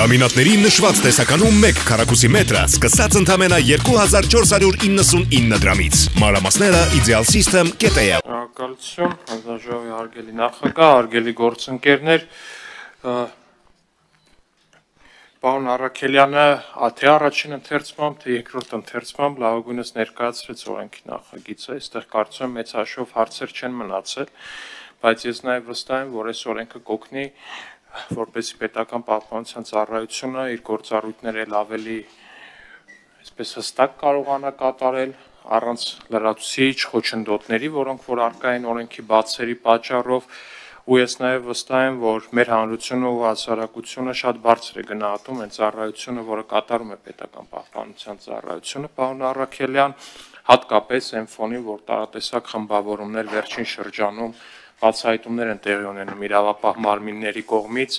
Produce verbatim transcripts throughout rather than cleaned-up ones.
Լամինատների նշված տեսականում մեկ քառակուսի մետրը սկսած ընդամենը երկու հազար չորս հարյուր իննսունինը դրամից։ Մանրամասները Ideal System կետեյ։ Շնորհակալություն, հանձնաժողովի հարգելի նախագահ, հարգելի գործընկերներ, պարոն Առաքելյանը թե առաջին ընթերցմամբ, թե երկրորդ ընթերցմամբ լավագույնս ներկայացրեց օրենքի նախագիծը, այստեղ կարծում եմ մեծ հաշվով հարցեր չեն մնացել, բայց ես նաև վստահ եմ, որ այս օրենքը կօգնի, որպեսզի պետական պահպանության ծառայությունը իր գործառույթները էլ ավելի այսպես հստակ կարողանա կատարել առանց լրացուցիչ խոչընդոտների, որոնք որ առկա են օրենքի բացերի պատճառով, ու ես նաև վստահ եմ, որ մեր հանրությունը ու հասարակությունը շատ բարձր է գնահատում այն ծառայությունը, որը կատարում է պետական պահպանության ծառայությունը, պարոն Առաքելյան, հատկապես այն ֆոնին, որ տարատեսակ խմբավորումներ վերջին շրջանում բացահայտումներ են տեղի ունենում իրավապահ մարմինների կողմից,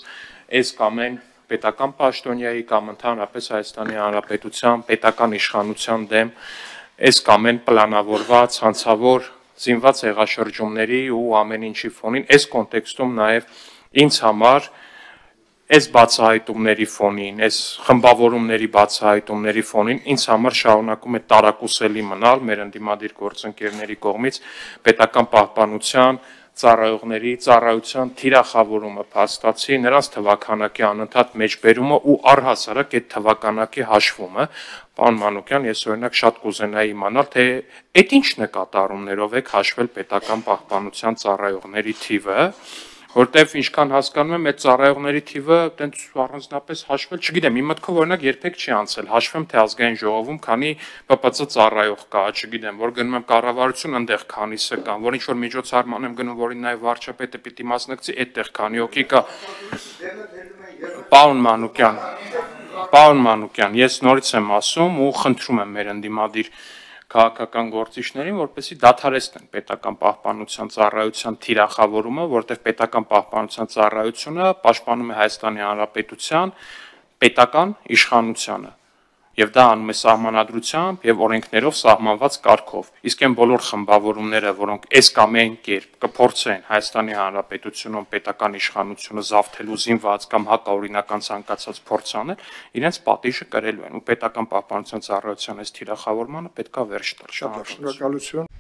այս կամ այն պետական պաշտոնյայի կամ ընդհանրապես Հայաստանի Հանրապետության պետական իշխանության դեմ, այս կամ այն պլանավորված, հանցավոր, զինված հեղաշրջումների ու ամեն ինչի ֆոնին, այս կոնտեքստում նաև ինձ համար այս բացահայտումների ֆոնին, այս խմբավորումների բացահայտումների ֆոնին ինձ համար շարունակում է տարակուսելի մնալ մեր ընդդիմադիր գործընկերների կողմից պետական պահպանության ծառայողների ծառայության թիրախավորումը փաստացի, նրանց թվաքանակի անընդհատ մեջբերումը ու առհասարակ այդ թվաքանակի հաշվումը, պարոն Մանուկյան, ես օրինակ շատ կուզենայի իմանալ, թե այդ ինչ նկատառումներով եք հաշվել պետական պահպանության ծառայողների թիվը, որտեվ ինչքան հասկանում եմ, այդ ծառայողների թիվը տենց առանձնապես հաշվել, չգիտեմ, իմ մտքով օրինակ երբեք չի անցել, հաշվեմ թե ազգային ժողովում քանի Պ Պ Ծ ծառայող կա, չգիտեմ, որ գնում եմ կառավարություն, այնտեղ քանիսը կան, որ ինչ որ միջոցառման եմ գնում, որին նաև վարչապետը պիտի մասնակցի, այդտեղ քանի հոգի կա։ Պարոն Մանուկյան, պարոն Մանուկյան, ես նորից եմ ասում ու խնդրում եմ մեր ընդդիմադիր քաղաքական գործիչներին, որպեսզի դադարեցնեն պետական պահպանության ծառայության թիրախավորումը, որտեղ պետական պահպանության ծառայությունը պաշտպանում է Հայաստանի Հանրապետության պետական իշխանությանը, եւ դա անում է սահմանադրությամբ եւ օրենքներով սահմանված կարգով։ Իսկ այն բոլոր խմբավորումները, որոնք այս կամ այն կերպ կփորձեն Հայաստանի Հանրապետությունում պետական իշխանությունը զավթելու զինված կամ հակաօրինական ցանկացած փորձ անել, իրենց պատիժը կրելու են ու պետական պահպանության ծառայության այս թիրախավորմանը պետքա վերջ տալ։ Շնորհակալություն։